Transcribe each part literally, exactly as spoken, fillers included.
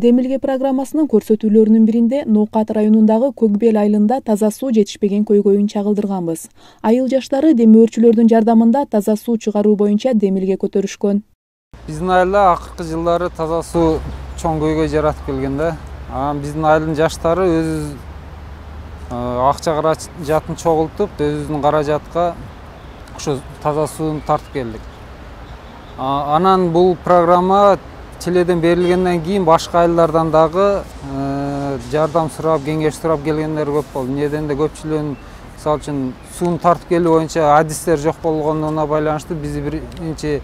Демилге программасынын көрсөтүүлөрүнүн биринде Ноокат районундагы Көкбел айылында таза суу жетишпеген көйгөйүн чагылдырганбыз. Айыл жаштары демөөрчүлөрдүн жардамында таза суу чыгаруу боюнча демилге көтөрүшкөн. Биздин айылда акыркы жылдары таза суу чоң көйгөй жаратып келген да. Анан биздин айылдын жаштары өз акча каражатын чогултуп, өзүбүздүн каражатка ошо таза сууну тартып келдик. Анан бул программа Теледен берилгенден кийин башка айылдардан дагы жардам сурап, кеңеш сурап келгендер көп болду. Неден де көпчүлүгүнүн мисалы үчүн сууну тартып келүү боюнча адистер жок болгондугуна байланыштуу биз биринчи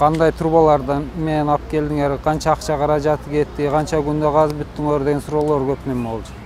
кандай трубалардан менен алып келдиңер, канча акча каражаты кетти, канча күндө казып бүттүңөр деген суроолор көп неме болчу.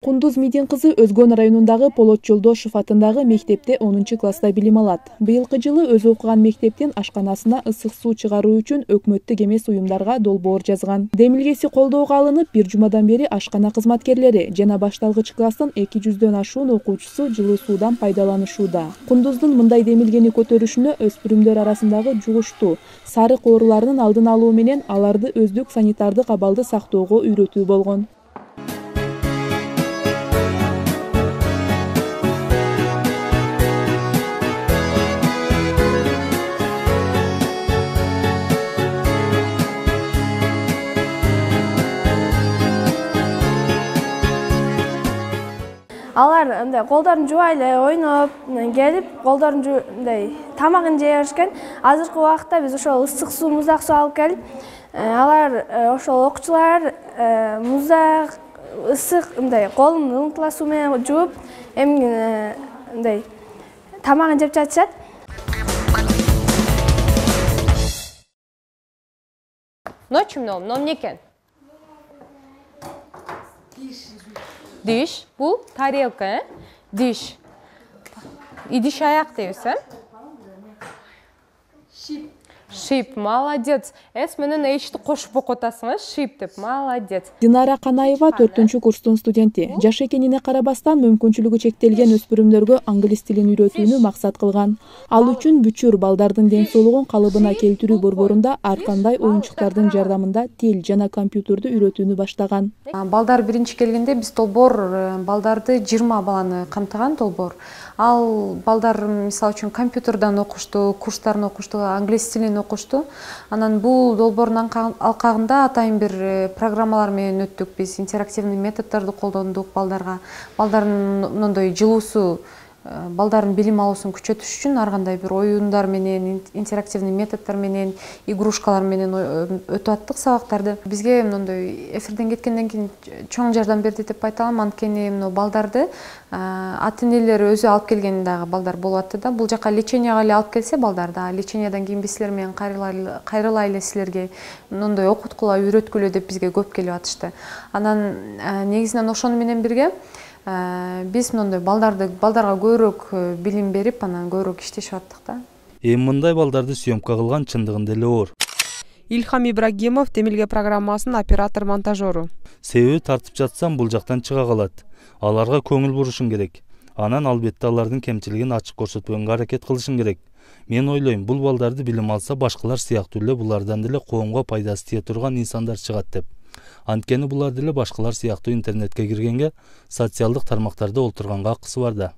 Кундуз Мидин кызы Өзгөн районундагы Полот Жолдошов атындагы мектепте онунчу класста билим алат. Быйылкы жылы өзү окуган мектептин ашканасына ысык суу чыгаруу үчүн өкмөттүк эмес уюмдарга долбоор жазган. Демилгеси колдоого алынып, бир жумадан бери ашкана кызматкерлери жана башталгыч класстын эки жүздөн ашуун окуучусу жылуу суудан пайдаланышууда. Кундуздун мындай демилгени көтөрүшүнө өспүрүмдөр арасындагы жугуштуу, сарык ооруларынын алдын алуу менен аларды өздүк санитардык абалды сактоого үйрөтүү болгон. Алар мындай колдорун жубай эле ойноп келип, колдорун мындай тамагын жей беришкен. Азыркы убакытта биз ошол ысык суу, муздак суу алып келип, алар ошол окуучулар муздак, ысык мындай колун ыңтыла суу менен жууп, эми мындай тамагын жеп жатышат. Ночью ном, ном не экен? Диш, бул тарелка, э? Диш. Идиш аяк дейбиз, э? Шип. Шип, молодец. Эс менен эчти кошуп окуп атасың, э? Шип деп, молодец. Динара Канаева төртүнчү курстун студенти. Жаш экенине карабастан мүмкүнчүлүгү чектелген өспүрүмдөргө англис тилин үйрөтүүнү максат кылган. Ал үчүн бүчүр балдардын ден соолугун калыбына келтирүү борборунда ар кандай оюнчуктардын жардамында тил жана компьютерди үйрөтүүнү баштаган. Балдар биринчи келгенде биз долбоор балдарды жыйырма баланы камтыган долбоор. Ал балдар мисалы үчүн компьютерден окушту, курстарын окушту, англис тилин окушту. Анан бул долбоордун алкагында атайын бир программалар менен өттүк. Биз интерактивный методдорду колдондук балдарга. Балдардын мындай жылуусу, балдардын билим алуусун күчөтүш үчүн ар кандай бир оюндар менен, интерактивный методдор менен, игрушкалар менен өтүп аттык сабактарды. Бизге мындай эфирден кеткенден кийин чоң жардам берди деп айта алам, анткени мына балдарды ата-энелери өзү алып келген дагы балдар болуп атты да. Бул жака леченияга эле алып келсе балдарды, лечениядан кийин биз силер менен кайрылайлы силерге мындай окуткула, үйрөткүлө деп бизге көп келип атышты. Анан негизинен ошону менен бирге биз мындай балдарды балдарга көбүрөөк билим берип, анан көбүрөөк иштешип аттык да. Эми мындай балдарды съемка кылган чындыгында эле оор. Илхам Ибрагимов, Демилге программасынын оператор-монтажеру. Себеби тартып жатсам бул жактан чыга калат. Аларга көңүл бурушуң керек. Анан албетте алардын кемчилигин ачык көрсөтпөгөнгө аракет кылышың керек. Мен ойлойм, бул балдарды билим алса, башкалар сыяктуу эле булардан деле коомго пайдасы тие турган инсандар чыгат деп. Анткени булар деле башкалар сыяктуу интернетке киргенге, социалдык тармактарда олтурганга акысы бар да.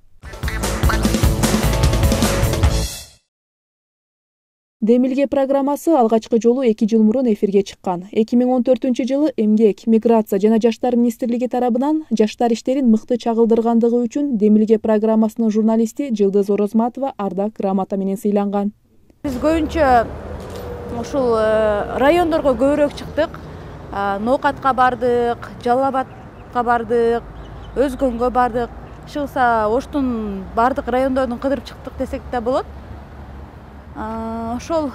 Демилге программасы алгачкы жолу эки жыл мурун эфирге чыккан. эки миң он төртүнчү жылы Эмгек, Миграция жана Жаштар министрлиги тарабынан жаштар иштерин мыкты чагылдыргандыгы үчүн Демилге программасынын журналисти Жылдыз Орозматова ардак грамота менен сыйланган. Биз көбүнчө ушул райондорго көбүрөөк чыктык. Ноокатка бардык, Жалал Абадка бардык, Өзгөнгө бардык. Чыгса Оштун бардык райондордун кыдырып чыктык десек да болот. Ошол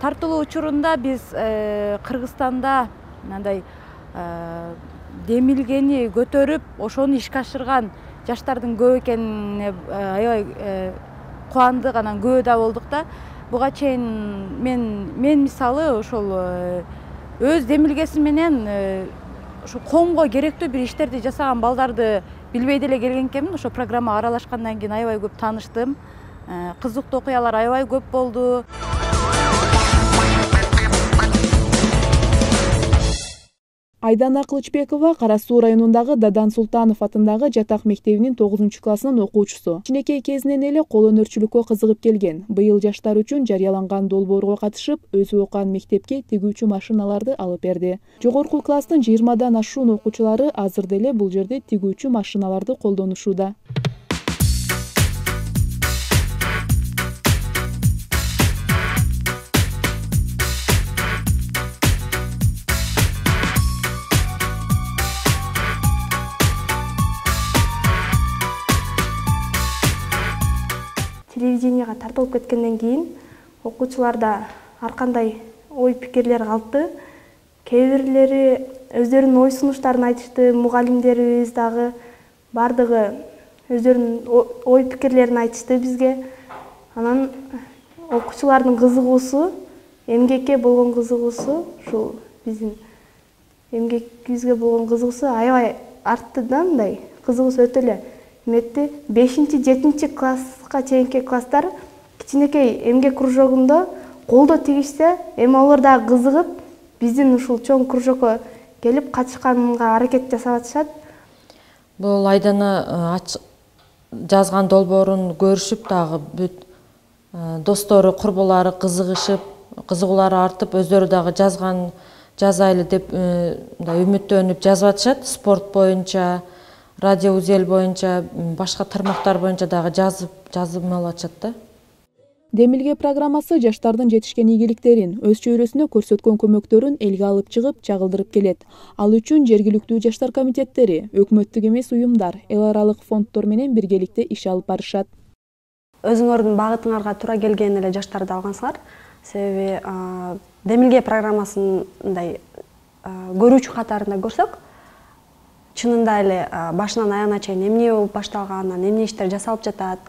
тартылуу учурунда биз Кыргызстанда мындай демилгени көтөрүп, ошону ишке ашырган жаштардын көп экенине аябай кубандык, анан күбө да болдук да. Буга чейин мен мен мисалы ошол өз демилгеси менен ошо коомго керектүү бир иштерди жасаган балдарды билбей деле келген экенмин. Ошо программага аралашкандан кийин аябай көп тааныштым. Кызыктуу окуялар аябай көп болду. Айдана Кылычбекова Кара Суу районундагы Дадан Султанов атындагы жатак мектебинин тогузунчу классынын окуучусу. Кичинекей кезинен эле кол өнөрчүлүккө кызыгып келген. Быйыл жаштар үчүн жарыяланган долбоорго катышып, өзү окуган мектепке тигүүчү машиналарды алып берди. Жогорку класстын жыйырмадан ашуун окуучулары азыр деле бул жерде тигүүчү машиналарды колдонушууда. Телевиденияга тартылып кеткенден кийин окуучуларда ар кандай ой пикирлер калды. Кээ бирлери өздөрүнүн ой сунуштарын айтышты, мугалимдерибиз дагы бардыгы өздөрүнүн ой пикирлерин айтышты бизге. Анан окуучулардын кызыгуусу, эмгекке болгон кызыгуусу, ушул биздин эмгекибизге болгон кызыгуусу аябай артты да, мындай кызыгуусу өтө эле эметти. бешинчи жетинчи класска чейинки класстар кичинекей эмгек кружогунда колдо тигишсе, эми алар дагы кызыгып, биздин ушул чоң кружокко келип катышканга аракет жасап атышат. Бул Айдана жазган долбоорун көрүшүп дагы бүт достору, курбулары кызыгышып, кызыгуулары артып, өздөрү дагы жазган жазайлы деп үмүттөнүп жазып атышат. Спорт боюнча, радио узел боюнча, башка тармактар боюнча дагы жазып жазып алып атышат да. Демилге программасы жаштардын жетишкен ийгиликтерин, өз чөйрөсүнө көрсөткөн көмөктөрүн элге алып чыгып, чагылдырып келет. Ал үчүн жергиликтүү жаштар комитеттери, өкмөттүк эмес уюмдар, эл аралык фонддор менен биргеликте иш алып барышат. Өзүңөрдүн багытыңарга туура келген эле жаштарды алгансыңар. Себеби Демилге программасын мындай көрүүчү катарында көрсөк, чынында эле башынан аягына чейин эмне болуп башталганын, эмне иштер жасалып жатат,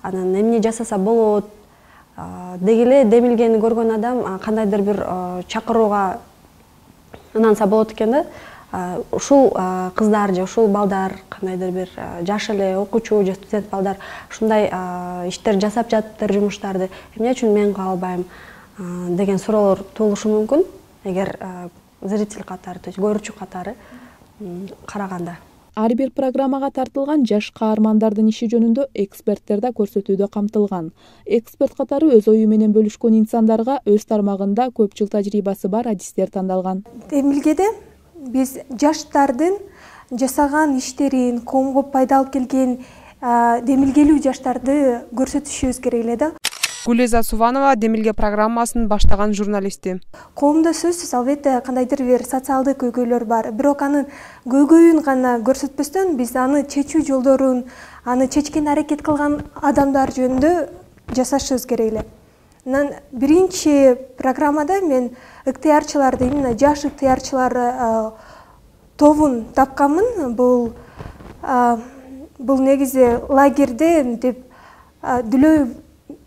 анан эмне жасаса болот деги эле Демилгени көргөн адам кандайдыр бир чакырууга ынанса болот экен да. Ушул кыздар же ушул балдар, кандайдыр бир жаш эле окуучу же студент балдар ушундай иштер жасап жатыптыр, жумуштарды эмне үчүн мен кыла албайм деген суроолор туулушу мүмкүн, эгер зритель катары, то есть көрүүчү катары караганда. Ар бир программага тартылган жаш каармандардын иши жөнүндө эксперттер да көрсөтүүдө камтылган. Эксперт катары өз ою менен бөлүшкөн инсандарга өз тармагында көп жыл тажрыйбасы бар адистер тандалган. Демилгеде биз жаштардын жасаган иштерин, коомго пайда алып келген демилгелүү жаштарды көрсөтүшүбүз керек эле да. Гулеза Суванова Демилге программасын баштаган журналисти. Коомдо сөзсүз албетте кандайдыр бир социалдык көйгөйлөр бар. Бирок анын көйгөйүн гана көрсөтпөстөн биз аны чечүү жолдорун, аны чечкенге аракет кылган адамдар жөнүндө жасашыбыз керек эле. Анан биринчи программада мен ыктыярчыларды, именно жаш ыктыярчылар тобун тапканмын. Бул бул негизи лагерде деп Дүлөй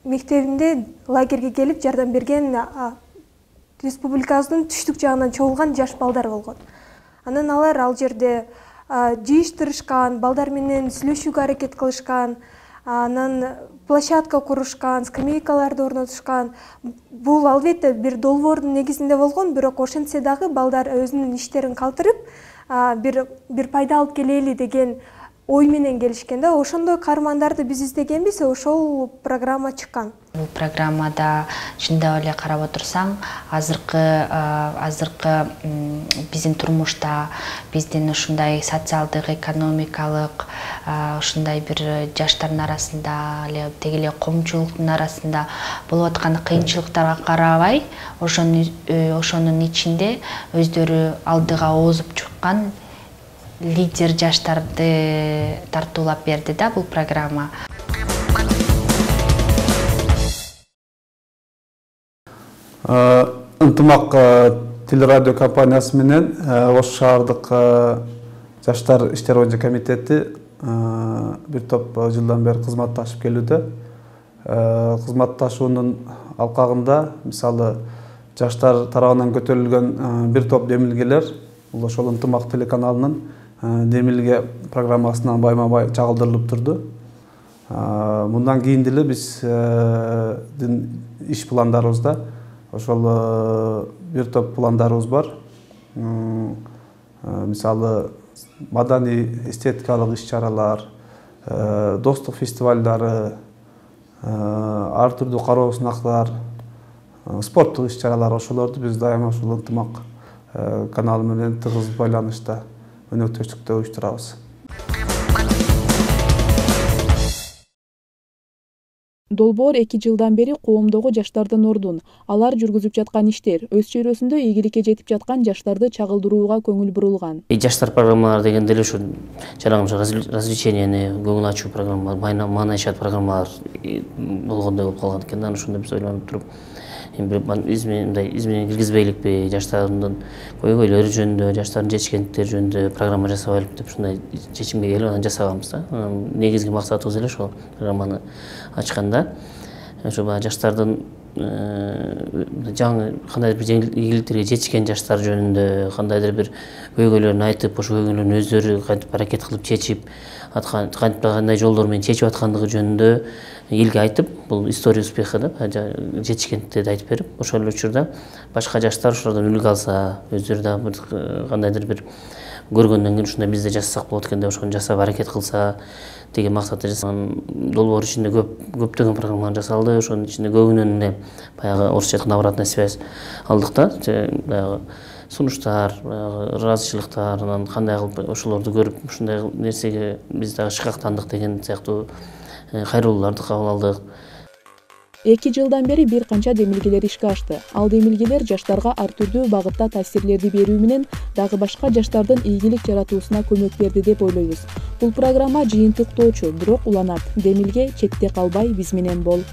мектебинде лагерге келип жардам берген республикабыздын түштүк жагынан чогулган жаш балдар болгон. Анан алар ал жерде жыйыштырышкан, балдар менен сүйлөшүүгө аракет кылышкан, анан площадка курушкан, скамейкаларды орнотушкан. Бул албетте бир долбоордун негизинде болгон, бирок ошентсе дагы балдар өзүнүн иштерин калтырып, бир бир пайда алып келели деген ой менен келишкен да. Ошондой каармандарды биз издегенбиз, ошол программа чыккан. Бул программада чындап эле карап отурсаң, азыркы азыркы биздин турмушта, биздин ушундай социалдык, экономикалык ушундай бир жаштардын арасында, эле теги эле коомчулуктун арасында болуп аткан кыйынчылыктарга карабай, ошонун ичинде өздөрү алдыга озуп чыккан лидер жаштарды тартуулап берди да бул программа. Ынтымак телерадио компаниясы менен Ош шаардык жаштар иштери боюнча комитети бир топ жылдан бери кызматташып келүүдө. Кызматташуунун алкагында мисалы жаштар тарабынан көтөрүлгөн бир топ демилгелер бул ошол Ынтымак телеканалынын Демилге программасынан байма-бай чагылдырылып турду. Мындан кийин деле биздин иш пландарыбызда ошол бир топ пландарыбыз бар. мисалы маданий эстетикалык иш чаралар, достук фестивалдары, ар түрдүү кароо сынактар, спорттук иш чаралар, ошолорду биз дайыма ушул ынтымак каналы менен тыгыз байланышта өнөктөштүктө уюштурабыз. Долбоор эки жылдан бери коомдогу жаштардын ордун, алар жүргүзүп жаткан иштер, өз чөйрөсүндө ийгиликке жетип жаткан жаштарды чагылдырууга көңүл бурулган. Жаштар программалары дегенде эле ушу жанагы развлеченияны көңүл ачуу программалар, маанайчат программалар болгондой болуп калган экен. Анан ошондо биз ойлонуп туруп, мындай изменение киргизбейликпи, жаштардын көйгөйлөрү жөнүндө, жаштардын жетишкендиктери жөнүндө программа жасабайлык деп ушундай чечимге келип анан жасаганбыз да. Негизги максатыбыз эле ошол программаны ачканда. Ошо баягы жаштардын жаңы кандайдыр бир ийгиликтерге жетишкен жаштар жөнүндө кандайдыр бир көйгөйлөрүн айтып, ошо көйгөйлөрүн өздөрү кантип аракет кылып чечип, кантип кандай жолдор менен чечип аткандыгы жөнүндө элге айтып, бул история успеха да, жетишкендиктерди айтып берип, ошол учурда башка жаштар ошолордон үлгү алса, өздөрү дагы бир кандайдыр бир көргөндөн кийин ушундай биз да жасасак болот экен деп ошону жасап аракет кылса деген максатта жасаган. Долбоор ичинде көп көптөгөн программалар жасалды. Ошонун ичинде көбүнөн эле баягы орусча айтканда обратная связь алдык да. Баягы сунуштар, ыраазычылыктар, анан кандай кылып ошолорду көрүп ушундай нерсеге биз дагы шыкактандык деген сыяктуу кайрылууларды кабыл алдык. Эки жылдан бери бир канча демилгелер ишке ашты. Ал демилгелер жаштарга ар түрдүү багытта таасирлерди берүү менен дагы башка жаштардын ийгилик жаратуусуна көмөк берди деп ойлойбуз. Бул программа жыйынтыктоочу, бирок уланат. Демилге четте калбай биз менен бол.